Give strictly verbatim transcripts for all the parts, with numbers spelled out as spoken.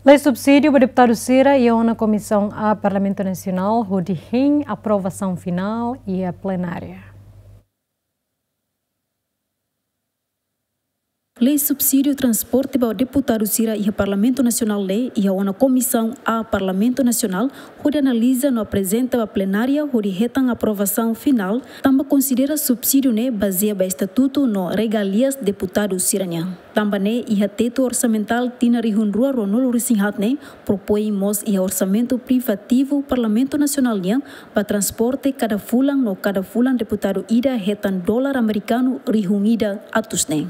Lei subsídiu ba deputadu sira iha ona Komisaun A Parlamentu Nasionál hodi hein aprovasaun finál iha plenária. Lei subsídiu transporte ba deputadu sira iha Parlamentu Nasionál ne'e iha ona Komisaun A Parlamentu Nasionál hodi analiza no aprezenta ba plenária hodi hetan aprovasaun finál, tanba konsidera subsídiu ne'e bazeia ba estatutu no regalias deputadu sira-nian. Tanba ne'e iha tetu orsamentál tinan rihun rua ruanulu-resin-haat ne'e propoin mós iha orsamentu privativu Parlamentu Nasionál nian ba transporte kada fulan no kada fulan deputadu ida hetan dolar amerikanu rihun ida atus ne'e.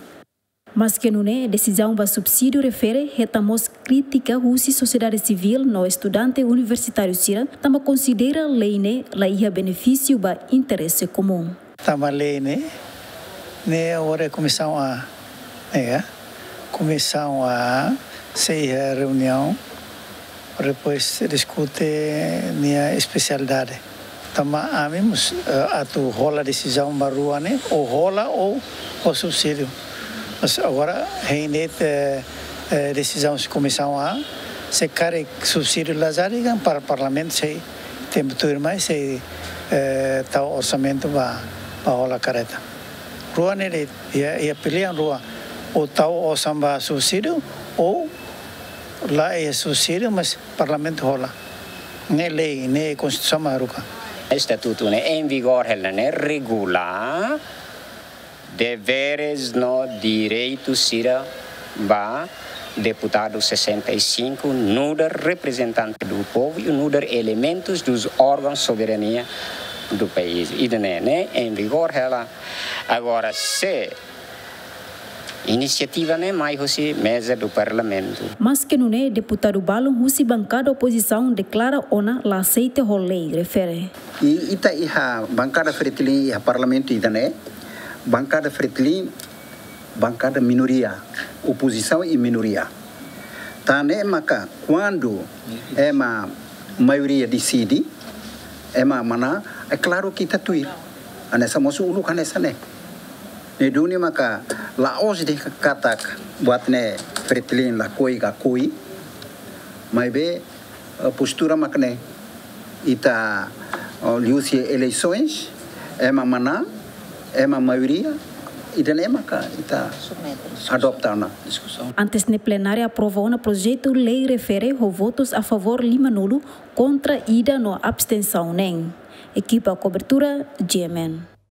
Maske nune'e, desizaun ba subsídiu refere hetan mós krítika husi sosiedade sivíl no estudante universitáriu sira, tanba konsidera lei ne'e la iha benefísiu ba interese komún. Tanba lei ne'e, ne'e agora Komisaun A, ne'e, Komisaun A sei iha reuniaun, depois diskute nia espesialidade. Tanba ami mós, eh, atu hola desizaun ba rua ne'e, ou hola ou, ou subsídiu. Mas agora, hein de'it, eh, eh, desizaun husi Komisaun A, se karik subsídiu la jadi, kan par-, Parlamentu sei tempu tuirmai sei, eh, tau orsamentu ba, ba hola karreta. Rua ne'e de'it, iha, iha pilihan rua, ou tau osan ba subsídiu, ou la iha subsídiu, mas Parlamentu hola. Ne'e lei, ne'e Konstituisaun mak haruka. Estatutu ne'e em vigor hela ne'e regula deveres no direitus sira ba deputadu sessenta e cinco, nu'udar reprezentante do povo e nu'udar elementus dos órgãos soberania do país. Ida-ne'e ne'e em vigor hela. Agora, se inisiativa ne'e mai husi meza do Parlamentu. Maske nune'e, deputadu balun husi bankada opozisaun deklara ona la aseita ho lei refere. I ita iha bankada Fretilin iha Parlamentu ida-ne'e, bankada Fretilin, bankada minoria, opozisaun i minoria. Tan ne'e maka kuandu ema maioria deside, ema manán, é klaru ke ita tuir. Hanesan mosu uluk hanesan ne'e. Ne'e duni maka la'ós dehan katak buat ne'e Fretilin lakohi ka kohi, maibé, eh, postura mak ne'e. Ita, eh, liuhusi eleisoens, ema manán, ema maioria, ida-ne'e maka ita adopta ona. Antes ne'e plenária aprova ona projetu lei refere ho votus a favór limanulu, kontra ida no abstensaun neen. Ekipa kobertura, G M N.